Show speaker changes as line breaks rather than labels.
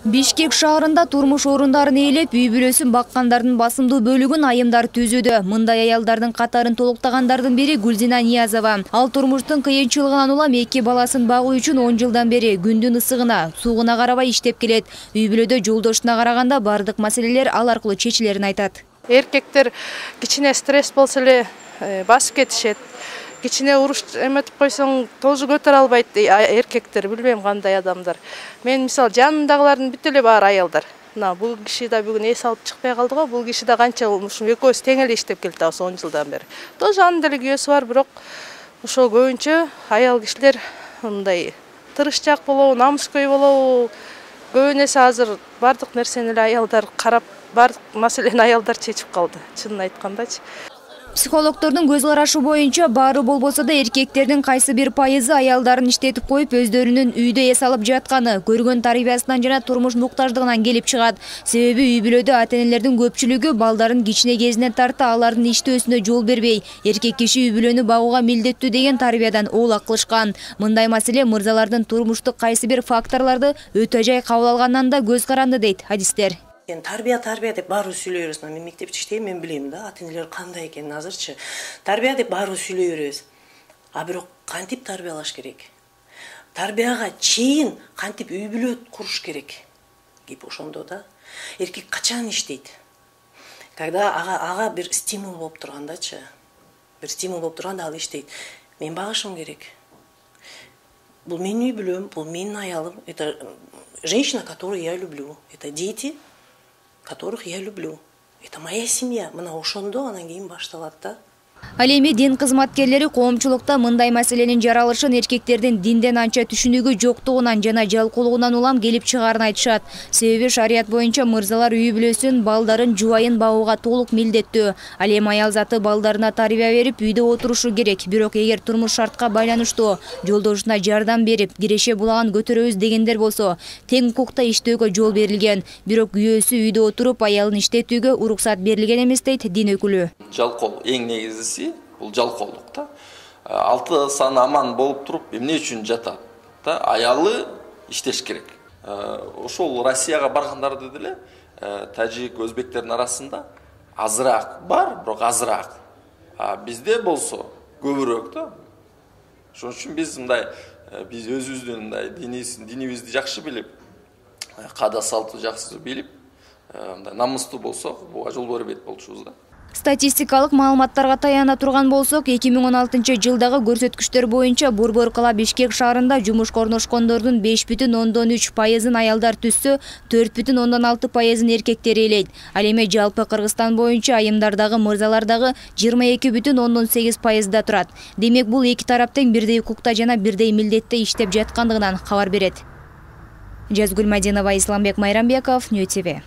Бишкек шаарында турмуш орундарын ээлеп, үй бүлөсүн баккандардын басымдуу бөлүгүн айымдар түзүүдө. Мындай аялдардын катарын толуктагандардын бири Гүлзина Ниязова. Ал турмуштун кыйынчылыгынан улам 2 баласын багуу үчүн 10 жылдан бери күндүн ысыгына, суугуна карабай иштеп келет. Үй бүлөдө жолдошуна караганда бардык маселелер ал аркылуу чечилерин айтат.
Эркектер кичине стресс болсо эле басып кетишет. Кичине уруш эметип койсоң тоже көтөрө албайт эркектер, билбейм кандай адамдар. Мен мисалы жанымдагылардын бүт эле баары аялдар. Мына бул киши да бүгүн эс алып чыкпай калды го. Бул киши да канча ушу экөөбүз тең эле иштеп келатабыз 10 жылдан бери. Тоже анын деле күйөөсү бар, бирок ошо көбүнчө аял кишилер мындай тырышчаак болобу, намыскөй болобу. Көбүн эсе азыр бардык нерсени эле аялдар карап, бардык маселени аялдар чечип калды. Чынын айткандачы.
Психологдордун көз карашы боюнча баары болбосо да эркектердин кайсы бир пайызы аялдарын иштетип коюп, өздөрүнүн үйдө эс алып жатканы, көргөн тарбиясынан жана турмуш муктаждыгынан келип чыгат. Себеби үй бүлөдө ата-энелердин көпчүлүгү балдарын кичине кезинен тарта алардын иштөөсүнө жол бербей, эркек киши үй бүлөнү багууга милдеттүү деген тарбиядан оолак кылышкан. Мындай маселе мырзалардын турмуштук кайсы бир факторлорду өтө жай кабыл алгандан да көз каранды дейт адистер.
Тарбия деп баары сүйлөй беребиз. Мен мектепте иштейм, мен билем да, ата-энелер кандай экенин азырчы. Тарбия деп баары сүйлөй беребиз. А бирок кантип тарбиялаш керек? Тарбияга чейин кантип үй бүлө куруш керек? Кеп ошондо да. Эркек качан иштейт? Когда ага бир стимул болуп тургандачы. Бир стимул болуп турганда ал иштейт. Мен багышым керек. Бул менин үй бүлөм, бул менин аялым. Это женщина, которую я люблю. Это дети, которых я люблю. Это моя семья. Мына ошондо анан кийин башталат да.
Ал эми дин кызматкерлери коомчулукта мындай маселенин жаралышын эркектердин динден анча түшүнүгү жоктугунан жана жалкоолугунан улам келип чыгаарын айтышат. Себеби шарият боюнча мырзалар үй бүлөсүн, балдарын, жубайын багууга толук милдеттүү. Ал эми аял заты балдарына тарбия берип, үйдө отурушу керек. Бирок эгер турмуш шартка байланыштуу жолдошуна жардам берип, киреше булагын көтөрөбүз дегендер болсо, тең укукта иштөөгө жол берилген. Бирок күйөөсү үйдө отуруп, аялын иштетүүгө уруксат берилген эмес дейт дин өкүлү.
Жалкоолук эң негизгиси бул жалкоолук да. 6 сан аман болуп туруп, эмне үчүн жатат да? Аялы иштеш керек. Ошол Россияга баргандарда деле тажик, өзбектердин арасында азыраак бар, бирок азыраак. Бизде болсо көбүрөөк да. Ошон үчүн биз өзүбүздүн мындай динибизди жакшы билип, каада салтты жакшы билип, мындай намыстуу болсок, буга жол бербейт болчубуз да.
Статистикалык маалыматтарга таяна турган болсок, 2016-жылдагы көрсөткүчтөр боюнча Борбор кала Бишкек шаарында жумушка орношкондордун 5,3% аялдар түссө, 4,6% эркектер ээлейт. Ал эми жалпы Кыргызстан боюнча айымдардагы, мырзалардагы 22,8% турат. Демек бул эки тараптын бирдей укукта жана бирдей милдетте иштеп жаткандыгынан кабар берет. Жазгүл Мадинова, Исламбек Майрамбеков, Нью ТВ.